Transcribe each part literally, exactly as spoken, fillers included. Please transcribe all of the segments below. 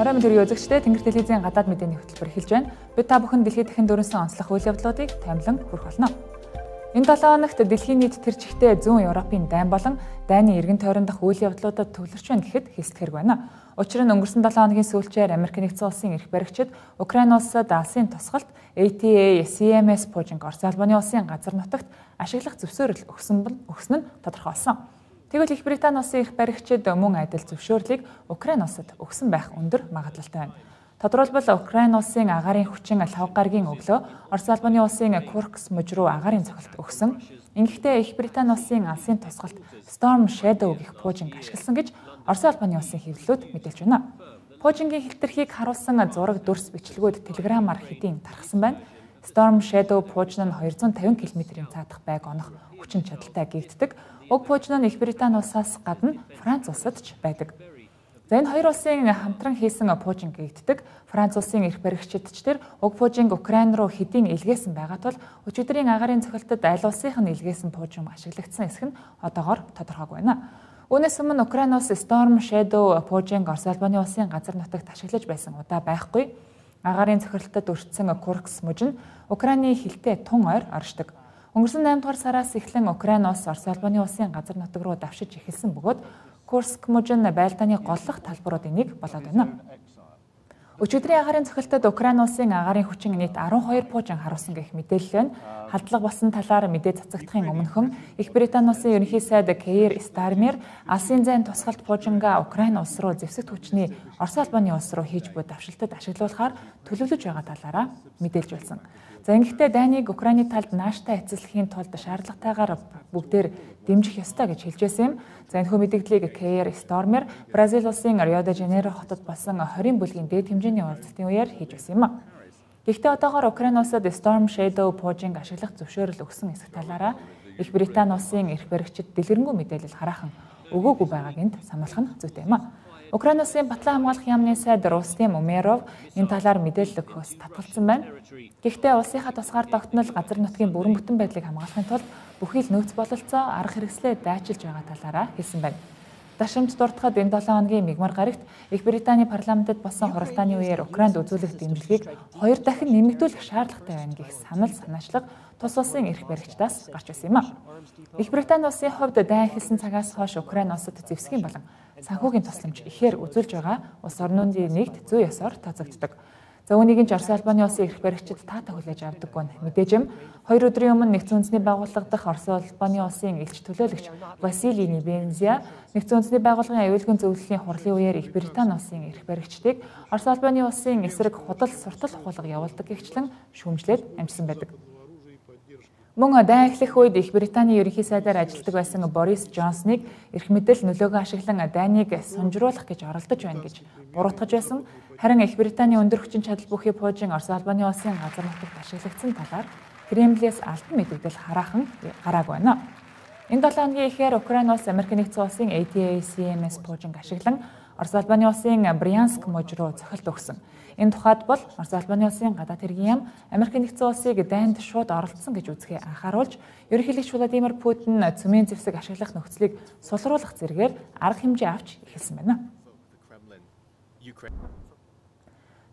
Орой мэд төрийн үзэгчдээ Тэнгэр телевизийн гадаад мэдээний хөтөлбөр эхэлж байна. Бид та бүхэн дэлхийд дахин дөрөнсөн онцлог үйл явдлуудыг таймлан хүргэх болно. Энэ долоо хоногт дэлхийн нийт тэр чигтээ зүүн Европын дайн болон дайны эргэн тойрон дахь үйл явдлуудад төвлөрч байна гэхэд хэлсэх хэрэг байна. Учир нь өнгөрсөн долоо хоногийн сүүлчээр Америк нэгдсэн улсын эрх баригчид Украин улсад алсын тусгалт A T A C M S Pojing Орос Албаны улсын газар нутагт ашиглах зөвшөөрөл өгсөн өгсөн нь тодорхойлсон. Тэгвэл Их Британи улсын эрх баригчид мөн адил зөвшөөрлийг Украин улсад өгсөн байх өндөр магадлалтай байна. Тодорхойлбол Украин улсын агаарын хүчин лав гарагийн өглөө Орос Албаны улсын Kursk мужид руу агаарын цохилт өгсөн. Ингэхдээ Их Британи улсын алсын тусгалт Storm Shadow гэх Pojing ашигласан гэж Орос Албаны улсын хэвлэлүүд мэдээлж байна. Pojing-ийн хилтерхийг харуулсан зураг дүрс бичлэгүүд телеграмаар хэдийн тархсан байна. Storm Shadow Pojing нь двести пятьдесят км-ийн цаадах байг онох хүчин чадалтай гэгддэг. Уг Pojing нь Их Британи улсаас гадна Франц улсад ч байдаг. За энэ хоёр улсын хамтран хийсэн Pojing гэгддэг. Франц улсын эрх баригчид ч тэр уг Pojing Украин руу хэдийн илгээсэн байгаа тул өчигдрийн агаарын цохилтод аль улсынх нь илгээсэн Pojing ашиглагдсан эсэх нь одоогоор тодорхойгүй байна. Үүнээс өмнө Украин улс Storm Shadow Pojing Орос Албаны улсын газар нутагт ашиглаж байсан удаа байхгүй. Агаарын цохилтод өртсөн Kursk мужид нь Украины хилтэй тун ойр оршдог. Өнгөрсөн наймд дугаар сараас эхлэн Украин улс Орос Албаны улсын газар нутаг руу давшиж эхэлсэн бөгөөд Kursk мужид нь байлдааны голлох талбаруудын нэг болоод байна. Өчигдрийн агаарын цохилтод Украин улсын агаарын хүчин нийт арван хоёр Pojing харуулсан гэх мэдээлэл байна. Халдлага болсон талаар мэдээ цацагдахын өмнөхөн Их Британи улсын ерөнхий сайд Keir Starmer алсын зайн тусгалт Pojing-а Украин улс руу зэвсэгт хүчний Орос Албаны улс руу хийж буй давшилтад ашиглуулахаар төлөвлөж байгаа талаараа мэдээлж байсан. За ингэхдээ дайныг Украины талд нааштай эцэслэхийн тулд шаардлагатайгаар бүгдээр дэмжих ёстой гэж хэлжсэн юм. За энэхүү мэдээллийг Keir Starmer Бразил улсын Рио де Жанейро хотод болсон хорийн бүлгийн дээд хэмжээний уулзалтын үеэр хийж байсан юм. Гэхдээ одоогоор Украин улсад Storm Shadow Pojing ашиглах зөвшөөрөл өгсөн эсэх талаараа Их Британи улсын эрх баригчид дэлгэрэнгүй мэдээлэл хараахан өгөөгүй байгааг энд сануулах нь зүйтэй юм. Украин улсын батлан хамгаалах яамны сайд Рустем Умеров энэ талаар мэдээлэл өгөхөөс татгалзсан байна. Гэхдээ улсынхаа тусгаар тогтнол газар нутгийн бүрэн бүтэн байдлыг хамгаалахын тулд бүхий л нөөц бололцоо арга хэрэгслээ дайчилж байгаа талаараа хэлсэн байна. Дашамж дуртахад энэ долоо хоногийн мигмар гарагт Их Британи парламентод болсон хуралдааны үеэр Украинд үзүүлэх дэмжлэгийг хоёр дахин нэмэгдүүлэх шаардлагатай байна гэх санал санаачлага тус улсын эрх баригчдаас гарч байсан юм а. Их Британи улсын хувьд дайн эхэлсэн цагаас хойш Украин улсад зэвсгийн болон санхүүгийн тусламж ихээр үзүүлж байгаа улс орнуудын нэгд зүй ёсоор тооцогддог. За үүнийг ч Орос Албаны улсын эрх баригчид таатаа хүлээж авдаггүй нь мэдээж юм. Хоёр өдрийн өмнө нэгдсэн үндэсний байгууллага дахь Орос Албаны улсын элч төлөөлөгч Василий Небензя нэгдсэн үндэсний байгууллагын аюулгын зөвлөлийн хурлын үеэр Их Британи улсын эрх баригчдыг Орос Албаны улсын эсрэг худал суртал хулга явуулдаг гэгчлэн шүүмжлээд амжсан байдаг. Мөн дайн эхлэх үед Их Британи ерөнхий сайдаар ажилладаг байсан Борис Джонсныг эрх мэдэл нөлөөгөө ашиглан дайныг сунжруулах гэж оролдож байна гэж буруутгаж байсан. Харин Их Британи өндөр хүчин чадал бүхий Pojing Орос Албаны улсын газар нутагт ашиглагдсан талаар Кремлээс албан мэдээлэл хараахан гараагүй байна. Энэ долоо хоногийн ихээр Украин улс Америк нэгдсэн улсын A T A C M S Pojing ашиглан Орос Албаны улсын Брянск мужид руу цохилт өгсөн. Энэ тухайд бол Орос Албаны улсын гадаад хэргийн яам Америк нэгдсэн улсыг дайнд шууд оролцсон гэж үзэхээ анхааруулж, ерөнхийлөгч Владимир Путин цөмийн зэвсэг ашиглах нөхцөлийг сулруулах зэргээр арга хэмжээ авч эхэлсэн байна.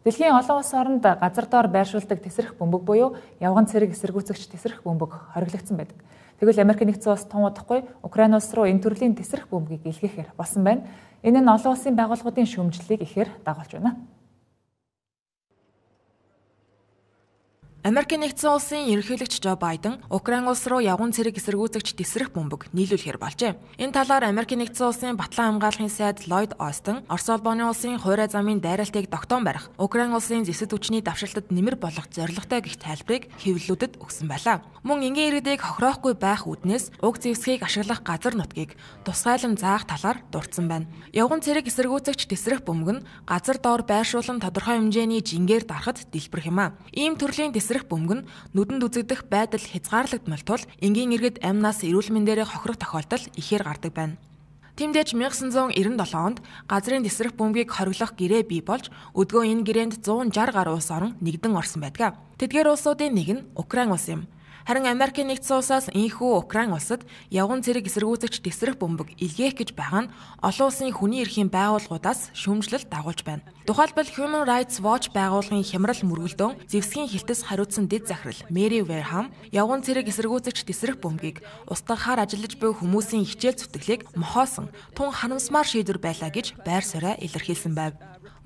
Дэлхийн олон улс оронд газар доор байршуулдаг тесрэх бөмбөг буюу явган цэрэг эсэргүүцэгч тесрэх бөмбөг хориглогдсон байдаг. Тэгвэл Америк нэгдсэн улс тун удахгүй Украин улс руу энэ төрлийн тесрэх бөмбөгийг илгээхээр болсон байна. Энэ нь олон улсын байгууллагуудын шүүмжлэлийг ихээр дагуулж байна. Америк нэгдсэн улсын ерөнхийлөгч Жо Байден Украин улс руу явган цэрэг эсэргүүцэгч тесрэх бөмбөг нийлүүлэхээр болжээ. Энэ талаар Америк нэгдсэн улсын батлан хамгаалахын сайд Lloyd Austin Орос Албаны улсын хуурай замын дайралтыг тогтоон барих, Украин улсын зэвсэг хүчний давшилтад нэмэр болох зорилготой гэх тайлбарыг хэвлэлүүдэд өгсөн байлаа. Мөн энгийн иргэдийг хохироохгүй байх үүднээс уг зэвсгийг ашиглах газар нутгийг тусгайлан заах талаар дурдсан байна. Явган цэрэг эсэргүүцэгч тесрэх бөмбөг нь газар доор байршуулан тодорхой хэмжээний жингээр дарахад дэлбэрэх юм а. Ийм төрлийн тесрэх бөмбөг нь нүдэнд үзэгдэх байдал хязгаарлагдмал тул энгийн иргэд амнаас эрүүл мэндээрээ хохирох тохиолдол ихээр гардаг байна. Тиймдээч 천ix девяносто seven онд газрын тесрэх бөмбөгийг хориглох гэрээ бий болж өдгөө энэ гэрээнд one sixty гаруй улс орон нэгдэн орсон байдаг. Тэдгээр улсуудын нэг нь Украин улс юм. Харин Америкийн нэгдсэн улсаас ийхүү Украин улсад явган цэрэг эсэргүүцэгч тесрэх бөмбөг илгээх гэж байгаа нь олон улсын хүний эрхийн байгууллагуудаас шүүмжлэл дагуулж байна. Тухайлбал Human Rights Watch байгууллагын хямрал мөргөлдөөн зэвсгийн хилтэс хариуцсан дэд захирал Мэри Верхам явган цэрэг эсэргүүцэгч тесрэх бөмбөгийг устгахаар ажиллаж буй хүмүүсийн хичээл зүтгэлийг мохоосон тун харамсмаар шийдвэр байлаа гэж байр сууриа илэрхийлсэн байв.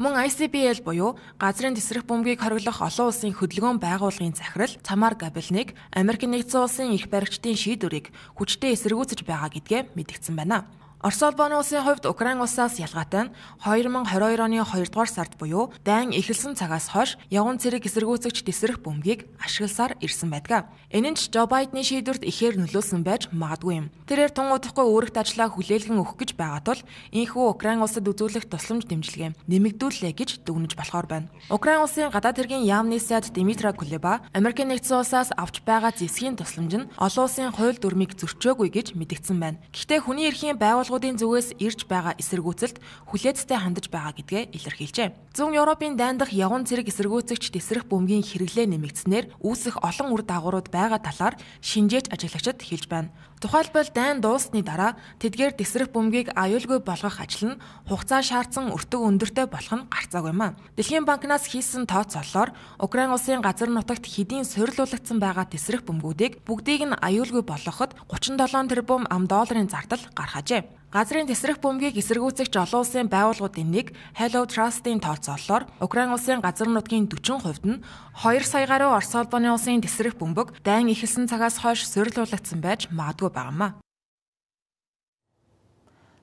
Мөн ай си би эл буюу газрын тесрэх бөмбөгийг хориглох олон улсын хөдөлгөөн байгууллагын захирал Тамар Габелник Америкийн нэгдсэн улсын эрх баригчдын шийдвэрийг хүчтэй эсэргүүцэж байгаа гэдгээ мэдгдсэн байна. Орос улбаны улсын хувьд Украин улсаас ялгаатай нь две тысячи двадцать two оны хоёрдугаар сард буюу дайн эхэлсэн цагаас хойш явган цэрэг эсэргүүцэгч тесрэх бөмбөгийг ашигласаар ирсэн байдаг. Энэ нь ч Жо Байдны шийдвэрт ихээр нөлөөлсөн байж магадгүй юм. Тэрээр тун удахгүй өөрөгт ажлаа хүлээлгэн өгөх гэж байгаа тул ийхүү Украин улсад үзүүлэх тусламж дэмжлэгээ нэмэгдүүлээ гэж дүгнэж болохоор байна. Украин улсын гадаад хэргийн яамны сайд Дмитра Кулеба Америкийн нэгдсэн улсаас авч байгаа зэвсгийн тусламж нь олон улсын хууль дүрмийг зөрчөөгүй гэж мэдгдсэн байна. Гэхдээ хүний эрхийн байгууллагын зүгээс ирж байгаа эсэргүүцэлд хүлээцтэй хандаж байгаа гэдгээ илэрхийлжээ. Зүүн Европын дайндах явган цэрэг эсэргүүцэгч тесрэх бөмбөгийн хэрэглээ нэмэгдснээр үүсэх олон үр дагаврууд байгаа талаар шинжээч ажиглагчид хэлж байна. Тухайлбал дайн дуусны дараа тэдгээр тесрэх бөмбөгийг аюулгүй болгох ажил нь хугацаа шаардсан өртөг өндөртэй болох нь гарцаагүй юм а. Дэлхийн банкнаас хийсэн тооцоололоор Украин улсын газар нутагт хэдийн суйрлуулагдсан байгаа тесрэх бөмбөгүүдийг бүгдийг нь аюулгүй болгоход thirty-seven тэрбум ам долларын зардал гаргажээ. Газрын тесрэх бөмбөгийг эсэргүүцэгч олон улсын байгууллагуудын нэг Hello Trust-ийн тооцоололоор Украин улсын газар нутгийн forty хувьд нь two сая гаруй Орос улбаны улсын тесрэх бөмбөг дайн эхэлсэн цагаас хойш суйрлуулагдсан байж магадгүй байгаамаа.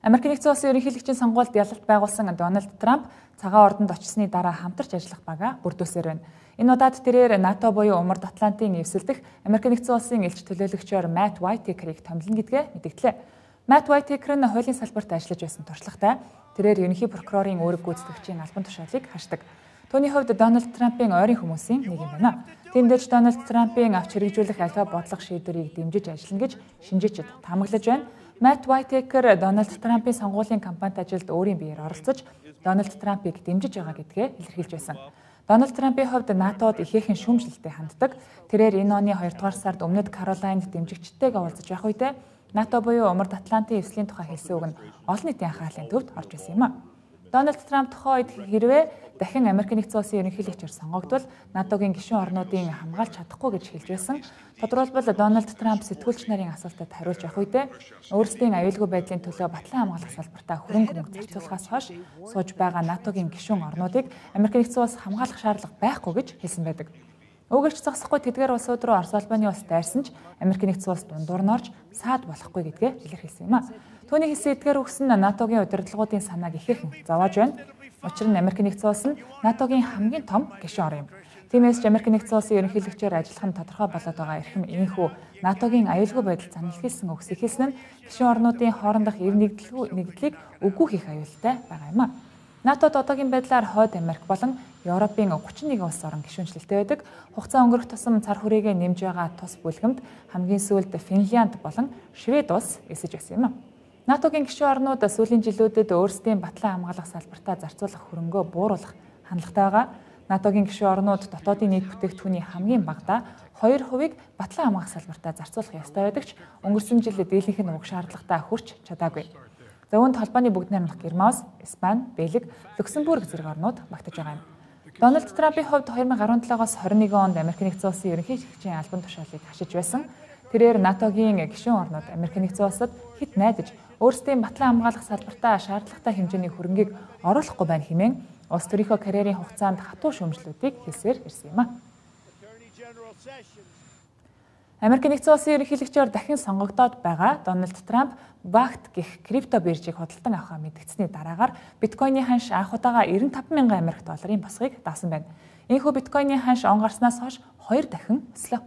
Америкийн нэгдсэн улсын ерөнхийлөгчийн сонгуульд ялалт байгуулсан Дональд Трамп цагаан ордонд очсны дараа хамтарч ажиллах бага бүрдүүлсээр байна. Энэ удаад тэрээр НАТО буюу Умард Атлантын эвсэлдэх Америкийн нэгдсэн улсын элч төлөөлөгчөөр Matt Whitaker-ыг томилно гэдгээ мэдгдлээ. Matt Whitaker нь хуулийн салбарт ажиллаж байсан туршлагатай. Тэрээр ерөнхий прокурорын үүрэг гүйцэтгэгчийн албан тушаалыг хашдаг. Түүний хувьд Дональд Трампын ойрын хүмүүсийн нэг юм байна. Тиймдээч Дональд Трампын авч хэрэгжүүлэх аливаа бодлого шийдвэрийг дэмжиж ажиллана гэж шинжээчид таамаглаж байна. Matt Whitaker Дональд Трампын сонгуулийн кампанит ажилд өөрийн биеэр оролцож, Дональд Трампыг дэмжиж байгаа гэдгээ илэрхийлж байсан. Дональд Трампын хувьд НАТОд ихээхэн шүүмжлэлтэй ханддаг. Тэрээр энэ оны хоёрдугаар сард Өмнөд Каролайнд дэмжигчдтэйгээ уулзаж байх үедээ НАТО буюу Умард Атлантын эвслийн тухай хэлсэн үг нь олон нийтийн анхаарлын төвд орж исэн юм а. Дональд Трамп тухайн үед хэрвээ дахин Америкийн нэгдсэн улсын ерөнхийлөгчөөр сонгогдвол НАТОгийн гишүүн орнуудын хамгаалж чадахгүй гэж хэлж байсан. Тодорхойлбол Дональд Трамп сэтгүүлч нарын асуултад хариулж явах үедээ өөрсдийн аюулгүй байдлын төлөө батлан хамгаалах салбартаа хөрөнгө мөнгө зарцуулахаас хойш сууж байгаа НАТОгийн гишүүн орнуудыг Америкийн нэгдсэн улс хамгаалах шаардлага байхгүй гэж хэлсэн байдаг. Өгөөч зогсохгүй тэдгээр улсууд руу Орос улбаны улс дайрсан ч Америкийн нэгдсэн улс дундуур нь орж саад болохгүй гэдгээ илэрхийлсэн юм а. Түүний хэлсэн эдгээр үгс нь НАТОгийн удирдлагуудын санааг ихээхэн зовоож байна. Учир нь Америкийн нэгдсэн улс нь НАТОгийн хамгийн том гишүүн ор юм. Тиймээс ч Америкийн нэгдсэн улсын ерөнхийлөгчөөр ажиллах нь тодорхой болоод байгаа эрхэм ийхүү НАТОгийн аюулгүй байдал занлахилсан үгс ихэлсэн нь гишүүн орнуудын хоорондох эв нэгдлийг үгүй хийх аюултай байгаа юм а. НАТОд одоогийн байдлаар Хойд Америк болон Европын thirty-one улс орон гишүүнчлэлтэй байдаг. Хугацаа өнгөрөх тусам цар хүрээгээ нэмж байгаа тус бүлгэмд хамгийн сүүлд Финлянд болон Швед улс эсэж байсан юм а. НАТОгийн гишүүн орнууд сүүлийн жилүүдэд өөрсдийн батлан хамгаалах салбартаа зарцуулах хөрөнгөө бууруулах хандлагатай байгаа. НАТОгийн гишүүн орнууд дотоодын нийт бүтээгдэхүүний хамгийн багадаа two хувийг батлан хамгаалах салбартаа зарцуулах ёстой байдаг ч өнгөрсөн жил дийлэнх нь уг шаардлагатай хүрч чадаагүй. За үүнд холбооны бүгд найрамдах Герман, Испани, Бельги, Люксембург зэрэг орнууд багтаж байгаа юм. Дональд Трампын хувьд twenty seventeen-оос twenty-one онд Америкийн нэгдсэн улсын ерөнхийлөгчийн албан тушаалыг хашиж байсан. Тэрээр НАТОгийн гишүүн орнууд Америкийн нэгдсэн улсад хэд найдаж өөрсдийн батлан хамгаалах салбартаа шаардлагатай хэмжээний хөрөнгийг оруулахгүй байна хэмээн улс төрийнхөө карьерийн хугацаанд хатуу шүүмжлэлүүдийг хэлсээр ирсэн юм а. Америкийн нэгдсэн улсын ерөнхийлөгчөөр дахин сонгогдоод байгаа Дональд Трамп Багт гэх крипто биржийг худалдан авахаа мэдгдсэний дараагаар биткойны ханш анх удаага ninety-five thousand Америк долларын босгыг даасан байна. Энэхүү биткойны ханш он гарснаас хойш хоёр дахин өслөө.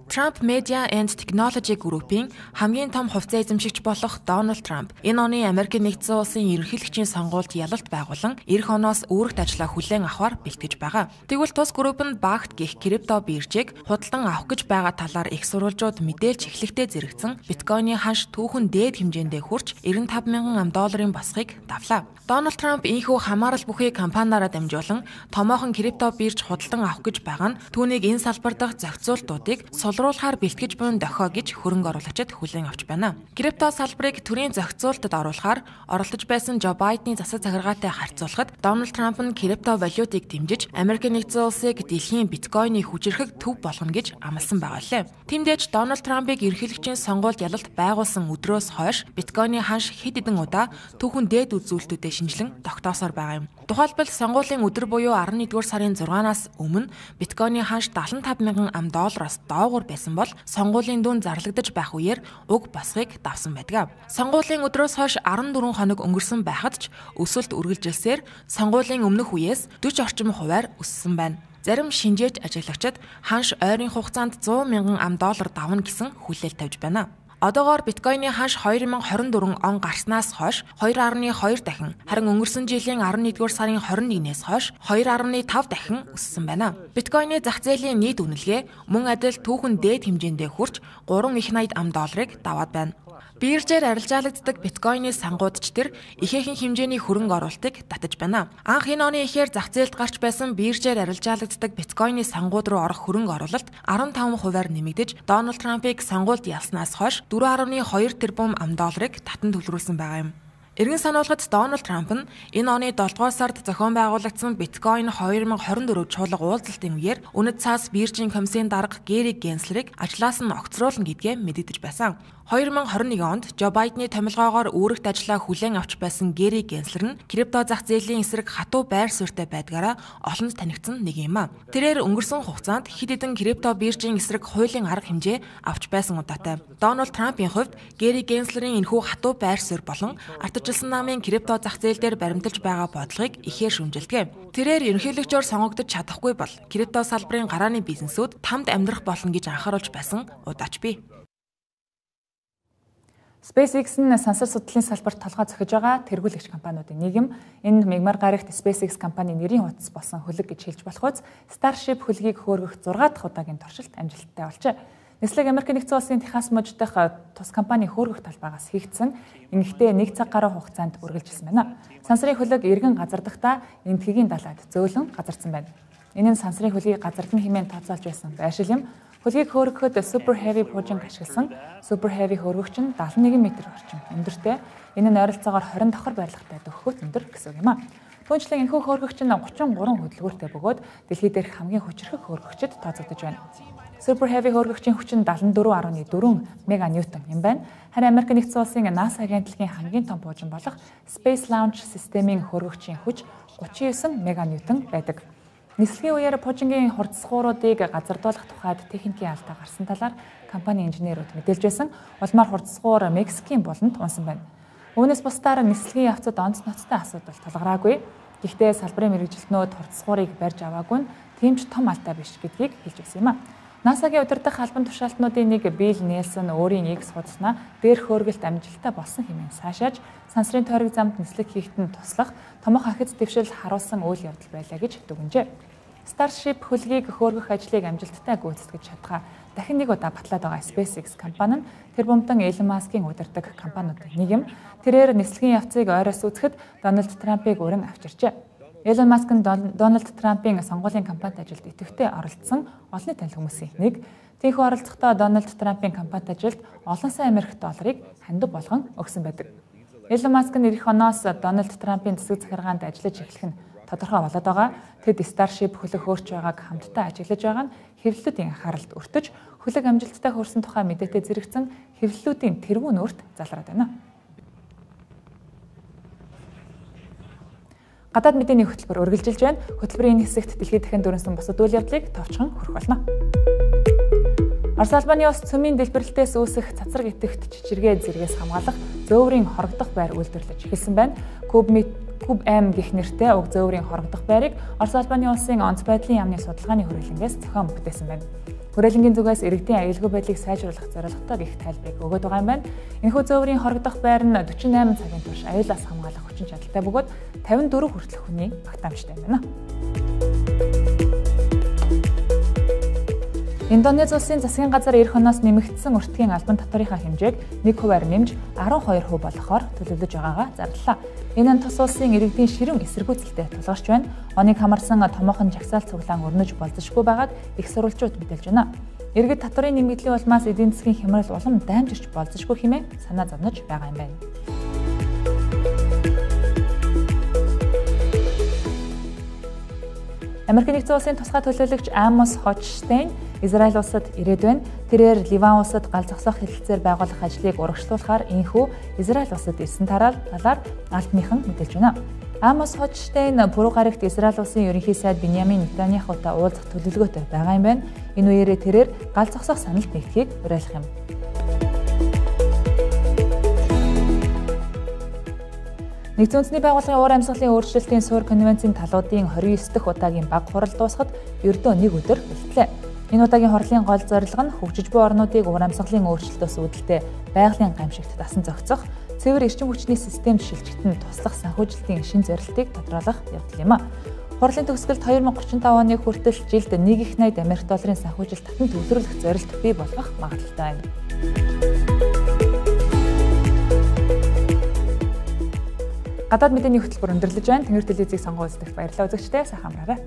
Trump Media and Technology Group-ийн хамгийн том хувьцаа эзэмшигч болох Дональд Трамп энэ оны Америкийн нэгдсэн улсын ерөнхийлөгчийн сонгуульд ялалт байгуулан эх оноос үүрэгт ажиллаа хүлээн авахар бэлтгэж байгаа. Тэгвэл тус групп нь багт гих крипто биржийг худалдан авах гэж байгаа талаар их сурвалжууд мэдээлж эхлэхдээ зэрэгцэн биткойны ханш түүхэн дээд хэмжээндээ хүрч нэрвэн тавь мянган ам долларын басхыг давлаа. Дональд Трамп ийхүү хамаарал бүхий компаниараа дамжуулан томоохон крипто бирж худалдан авах гэж байгаа нь түүнийг энэ салбар дахь зохицуултуудыг сулруулахаар бэлтгэж буй дохио гэж хөрөнгө оруулагчид хүлээн авч байна. Крипто салбарыг төрийн зохицуултад оруулахаар оролдож байсан Жо Байдны засаг захиргаатай харьцуулахад Дональд Трамп нь крипто валютыг дэмжиж Америкийн нэгдсэн улсыг дэлхийн биткойны хүчирхэг төв болгоно гэж амласан байгаа лээ. Тиймдээч Дональд Трампыг ерөнхийлөгчийн сонгуульд ялалт байгуулсан өдрөөс хойш биткойны ханш хэд хэдэн удаа түүхэн дээд үзүүлэлтүүдэд шинжилэн тогтоосоор байгаа юм. Тухайлбал сонгуулийн өдөр буюу арван нэгдүгээр сарын зургаанаас өмнө биткойны ханш дагалан тавь мянган ам доллароос доогуур байсан бол сонгуулийн дүн зарлагдаж байх үеэр уг басхыг давсан байдаг. Сонгуулийн өдрөөс хойш арван дөрвөн хоног өнгөрсөн байхад ч өсөлт үргэлжилсээр сонгуулийн өмнөх үеэс дөрвөн орчим хувиар өссөн байна. Зарим шинжээч ажиглагчид ханш ойрын хугацаанд зуун мянган ам доллар давна гэсэн хүлээл тавьж байна. Одоогоор биткойны ханш две тысячи двадцать четыре он гарснаас хойш two point two дахин, харин өнгөрсөн жилийн арван нэгдүгээр сарын двадцать нэгнээс хойш two point five дахин өссөн байна. Биткойны зах зээлийн нийт үнэлгээ мөн адил түүхэн дээд хэмжээндээ хүрч three их найд ам долларыг даваад байна. Биржээр арилжаалагддаг биткойны сангуудч тэр ихээхэн хэмжээний хөрөнгө оруулалтыг татаж байна. Анх энэ оны эхээр зах зээлд гарч байсан биржээр арилжаалагддаг биткойны сангууд руу орох хөрөнгө оруулалт fifty-five хувиар нэмэгдэж Дональд Трампыг сонгуульд ялснаас хойш four point two тэрбум ам долларыг татан төлрүүлсэн байгаа юм. Иргэн сануулгад Дональд Трамп нь энэ оны долдугаар сард зохион байгуулагдсан биткойн twenty twenty-four чуулга уулзалтын үеэр үнэт цаас биржийн комиссийн дарга Гэри Генслерийг ажлаас нь огцруулна гэдгээ мэдэгдэж байсан. twenty twenty-one онд Жо Байдны томилгоогоор үүрэгт ажиллаа хүлээн авч байсан Гэри Генслер нь крипто зах зээлийн эсрэг хатуу байр суурьтай байдгаараа олонд танигдсан нэг юм а. Тэрээр өнгөрсөн хугацаанд хэд хэдэн крипто биржийн эсрэг хуулийн арга хэмжээ авч байсан удаатай. Дональд Трампын хувьд Гэри Генслерийн энэхүү хатуу байр суурь болон ардчилсан намын крипто зах зээл дээр баримталж байгаа бодлогыг ихээр шүмжилдэг. Тэрээр ерөнхийлөгчөөр сонгогдож чадахгүй бол крипто салбарын гарааны бизнесүүд тамд амьдрах болно гэж анхааруулж байсан удаач бий. SpaceX нь сансар судлалын салбарт толгой зохиж байгаа тэргүүлэгч компаниудын нийгэм энэ мегмар гарагт SpaceX компани нэрийн утас болсон хөлөг гэж хэлж болохоос Starship хөлгийг хөөргөх six дахь удаагийн туршилт амжилттай болжээ. Нислэг Америкийн нэгдсэн улсын Техас мужид дах тус компани хөөргөх талбайгаас хийгдсэн ингэхдээ нэг цаг гаруй хугацаанд үргэлжилсэн байна. Сансрын хөлөг эргэн газардахдаа энтхэгийн далайд зөөлөн газардсан байна. Энэ нь сансрын хөлгийг газардан хэмээн тооцоолж байсан байшил юм. Хөлгийг хөөргөхөд Super Heavy пужинг ашигласан Super Heavy хөөргөгч нь seventy-one метр орчим өндөртэй. Энэ нь ойролцоогоор twenty давхар барилгатай дөхөхөд өндөр гэсэн юм а. Түүнчлэн энэхүү хөөргөгч нь thirty-three хөдөлгөөртэй бөгөөд дэлхий дээрх хамгийн хүчирхэг хөөргөгчд тооцогдож байна. Super Heavy хөөргөгчийн хүч нь seventy-four point four меганьютон юм байна. Харин Америк нэгдсэн улсын NASA агентлагийн хамгийн том буужин болох Space Launch System-ийн хөөргөгчийн хүч thirty-nine меганьютон байдаг. Нислэгийн үеэр пужингийн хурцсгууруудыг газардуулах тухайд техникийн алдаа гарсан талаар компани инженерүүд мэдээлж байсан. Улмаар хурцсгуур Мексикийн буланд унсан байна. Үүнээс бусдаар нислэгийн явцад онц ноцтой асуудал тулгараагүй. Гэхдээ салбарын мэргэжилтнүүд хурцсгуурыг барьж аваагүй нь тийм ч том алдаа биш гэдгийг хэлж байсан юм а. NASA-гийн удирдах албан тушаалтнуудын нэг Билл Нельсон өөрийн X хуудаснаа дээрх хөөргөлт амжилттай болсон хэмээн сайшааж сансрын тойрог замд нислэг хийхэд нь туслах томоохон ахиц дэвшил харуулсан үйл явдал байлаа гэж дүгнжээ. Starship хөлгийг хөөргөх ажлыг амжилттай гүйцэтгэж чадхаа дахин нэг удаа батлаад байгаа SpaceX компани нь тэр бумтан Elon Musk-ийн удирдаг компаниудын нэг юм. Тэрээр нислэгийн явцыг ойроос үзэхэд Дональд Трампыг өрн авчирчээ. Elon Musk нь Дональд Трампын сонгуулийн кампанит ажилд идэвхтэй оролцсон олон танил хүмүүсийн нэг. Тийхүү оролцохдоо Дональд Трампын кампанит ажилд олон сая Америк долларыг хандив болгон өгсөн байдаг. Elon Musk нь эх оноос Дональд Трампын засаг захиргаанд ажиллаж эхлэх нь тодорхой болоод байгаа. Тэд Starship хөлөг хөөрч байгааг хамтдаа ажиглаж байгаа нь хэвлэлүүдийн анхааралд өртөж хөлөг амжилттай хөрсөн тухай мэдээтэй зэрэгцэн хэвлэлүүдийн тэргүүн өөрт залраад байна. Гадаад мэдээний хөтөлбөр үргэлжилж байна. Хөтөлбөрийн энэ хэсэгт дэлхийд дахин дөрөнсөн бусад үйл явдлыг товчхон хүрэх болно. Орос Албаны улс цөмийн дэлбэрэлтээс үүсэх цацраг итгэвт чичиргээ зэргээс хамгаалах зөөврийн хорогдох байр үйлдвэрлэж эхэлсэн байна. Куб Куб М гэх нэртэй уг зөөврийн хорогдох байрыг Орос Албаны улсын онц байдлын яамны судалгааны хүрээлэнгээс зохион бүтээсэн байна. Хүрээлэнгийн зүгээс иргэдийн аюулгүй байдлыг сайжруулах зорилготой гэх тайлбарыг өгöd байгаа юм байна. Энэхүү зөөврийн хорогдох байр нь forty-eight цагийн турш аюулаас хамгаалах хүчин чадалтай бөгөөд fifty-four хүртэлх хүний багтаамжтай байна. Индонез улсын засгийн газар эх оноос нэмэгдсэн өртгийн албан татварынхаа хэмжээг one хувиар нэмж twelve хувь болгохоор төлөвлөж байгаагаа зарлалаа. Энэ нь тус улсын иргэдийн ширүүн эсэргүүцэлтэй тулгарч байна. Оныг хамарсан томоохон жагсаал цуглаан өрнөж болзошгүй байгааг их сурвалжууд мэдээлж байна. Иргэд татварын нэмэгдлийн улмаас эдийн засгийн хямрал улам даймжирч болзошгүй хэмээн санаа зовнож байгаа юм байна. Америк нэгдсэн улсын тусгай төлөөлөгч Амос Хочштейн Израиль улсад ирээд байна. Тэрээр Ливан улсад гал зогсоох хэлэлцээр байгуулах ажлыг урагшлуулахаар энэхүү Израиль улсад ирсэн талаар албаныхан мэдээлж байна. Амос Хочштейн пүрэв гарагт Израиль улсын ерөнхий сайд Биньямин Нетаньяхутай уулзах төлөвлөгөөтэй байгаа юм байна. Энэ үеэрээ тэрээр гал зогсоох саналд нэгдэхийг уриалах юм. Нэгдсэн үндэсний байгууллагын уур амьсгалын өөрчлөлтийн суурь конвенцийн талуудын twenty-nine дахь удаагийн баг хурал дуусахад ердөө нэг өдөр бэлтлээ. Энэ удаагийн хурлын гол зорилго нь хөгжиж буй орнуудыг уур амьсгалын өөрчлөлтөөс үүдэлтэй байгалийн гамшигт дасан зохицох, цэвэр эрчим хүчний системд шилжигдэн туслах санхүүжилтийн шин зорилтыг тодорхойлох явдал юм а. Хурлын төгсгөлд twenty thirty-five оны хүртэл жилд one их ninety Америк долларын санхүүжилт татан төвлөрүүлэх зорилт бий болгох магадлалтай байна. Гадаад мэдээний хөтөлбөр өндөрлөж байна. Тэнгэр телевизийг сонгон үзтэгт баярлалаа үзэгчдээ сайхан амраарай.